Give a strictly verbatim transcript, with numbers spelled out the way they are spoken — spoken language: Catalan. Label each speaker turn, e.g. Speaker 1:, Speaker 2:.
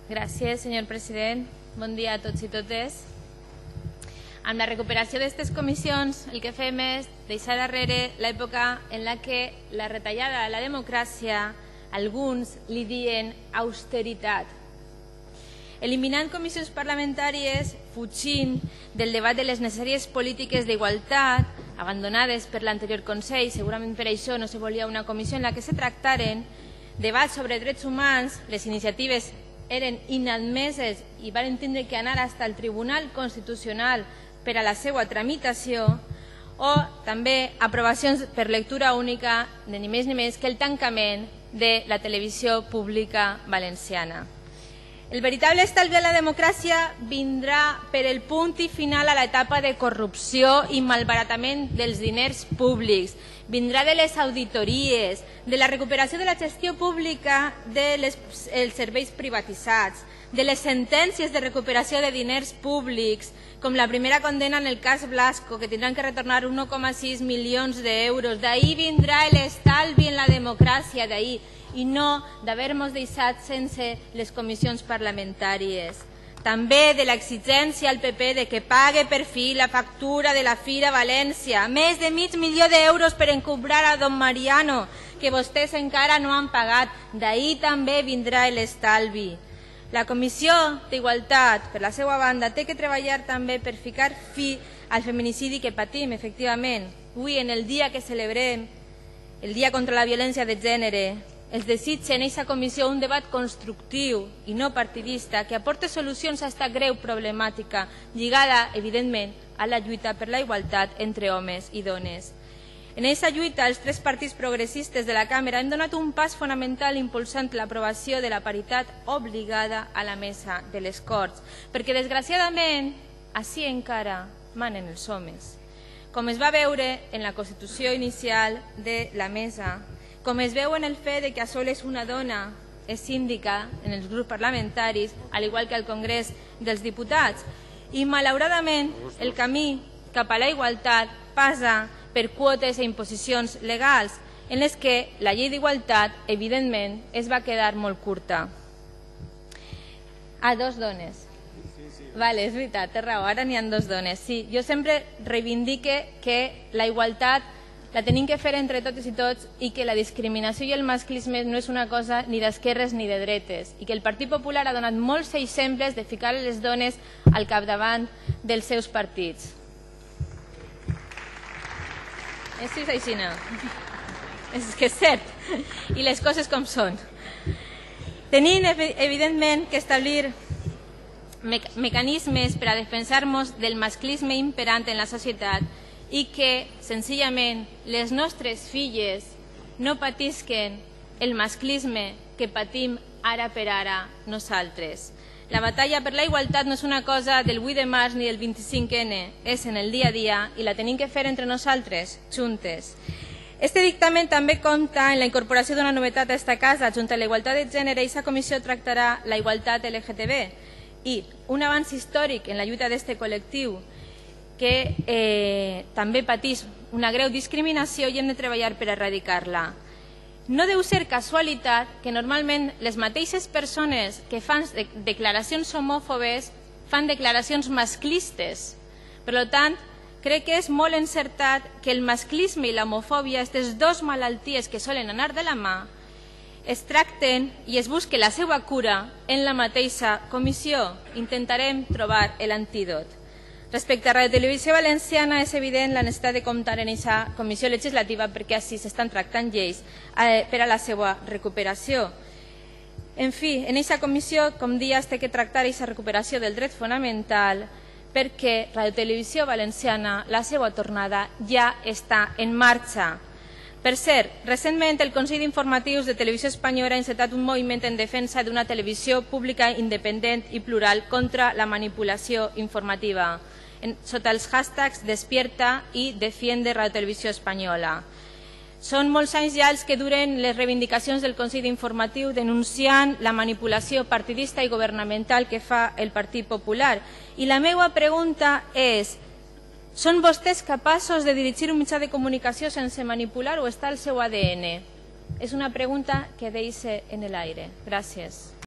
Speaker 1: Gràcies, senyor president. Bon dia a tots i totes. Amb la recuperació d'aquestes comissions, el que fem és deixar darrere l'època en la que la retallada de la democràcia alguns li diuen austeritat. Eliminant comissions parlamentàries, fugint del debat de les necessàries polítiques d'igualtat, abandonades per l'anterior Consell, segurament per això no se volia una comissió en la que se tractaren debats sobre drets humans, les iniciatives eren inadmeses i van tindre que anar fins al Tribunal Constitucional per a la seva tramitació, o també aprovacions per lectura única de ni més ni menys que el tancament de la televisió pública valenciana. El veritable estalvi de la democràcia vindrà per el punt i final a l'etapa de corrupció i malbaratament dels diners públics. Vindrà de les auditories, de la recuperació de la gestió pública dels serveis privatitzats, de les sentències de recuperació de diners públics, com la primera condena en el cas Blasco, que tindran que retornar un coma sis milions d'euros. D'ahir vindrà l'estalvi en la democràcia, d'ahir, i no d'haver-nos deixat sense les comissions parlamentàries. També de l'exigència al P P de que pague per fi la factura de la Fira València, més de mig milió d'euros per encobrar a don Mariano, que vostès encara no han pagat. D'ahir també vindrà l'estalvi. La Comissió d'Igualtat, per la seva banda, té que treballar també per ficar fi al feminicidi que patim, efectivament. Avui, en el dia que celebrem, el Dia contra la Violència de Gènere, els desitja en aquesta comissió un debat constructiu i no partidista que aporte solucions a aquesta greu problemàtica lligada, evidentment, a la lluita per la igualtat entre homes i dones. En aquesta lluita, els tres partits progressistes de la Cambra hem donat un pas fonamental impulsant l'aprovació de la paritat obligada a la mesa de les Corts, perquè, desgraciadament, així encara manen els homes. Com es va veure en la Constitució inicial de la mesa, com es veu en el fet que a soles una dona és síndica en els grups parlamentaris, al igual que al Congrés dels Diputats. I, malauradament, el camí cap a la igualtat passa per quotes i imposicions legals, en les que la llei d'igualtat, evidentment, es va quedar molt curta. Ah, dos dones. Vale, és veritat, té raó, ara n'hi ha dos dones. Sí, jo sempre reivindique que la igualtat la tenim que fer entre totes i tots i que la discriminació i el masclisme no és una cosa ni d'esquerres ni de dretes i que el Partit Popular ha donat molts exemples de ficar les dones al capdavant dels seus partits. Això és així, no? És que és cert. I les coses com són. Tenim, evidentment, que establir mecanismes per a defensar-nos del masclisme imperant en la societat i que, senzillament, les nostres filles no patisquen el masclisme que patim ara per ara nosaltres. La batalla per la igualtat no és una cosa del vuit de març ni del vint-i-cinc ene, és en el dia a dia i la tenim que fer entre nosaltres, juntes. Este dictamen també compta en la incorporació d'una novetat a esta casa. Junt a la igualtat de gènere, aquesta comissió tractarà la igualtat L G T B i un avanç històric en la lluita d'este col·lectiu que eh, també pateix una greu discriminació i hem de treballar per erradicar-la. No deu ser casualitat que normalment les mateixes persones que fan declaracions homòfobes fan declaracions masclistes. Per tant, crec que és molt encertat que el masclisme i l'homofòbia, aquestes dues malalties que solen anar de la mà, es tracten i es busque la seva cura en la mateixa comissió. Intentarem trobar l'antídot. Respecte a Radio Televisió Valenciana, és evident la necessitat de comptar en aquesta comissió legislativa perquè així s'estan tractant lleis per a la seva recuperació. En fi, en aquesta comissió, com dia, es té que tractar aquesta recuperació del dret fonamental perquè Radio Televisió Valenciana, la seva tornada, ja està en marxa. Per cert, recentment el Consell d'Informatius de Televisió Espanyola ha encetat un moviment en defensa d'una televisió pública independent i plural contra la manipulació informativa, sota els hashtags Despierta i Defiende Radio Televisió Espanyola. Són molts anys ja els que duren les reivindicacions del Consell d'Informatiu denunciant la manipulació partidista i governamental que fa el Partit Popular. I la meva pregunta és: són vostès capaços de dirigir un mitjà de comunicació sense manipular o està al seu A D N? És una pregunta que deixo en l'aire. Gràcies.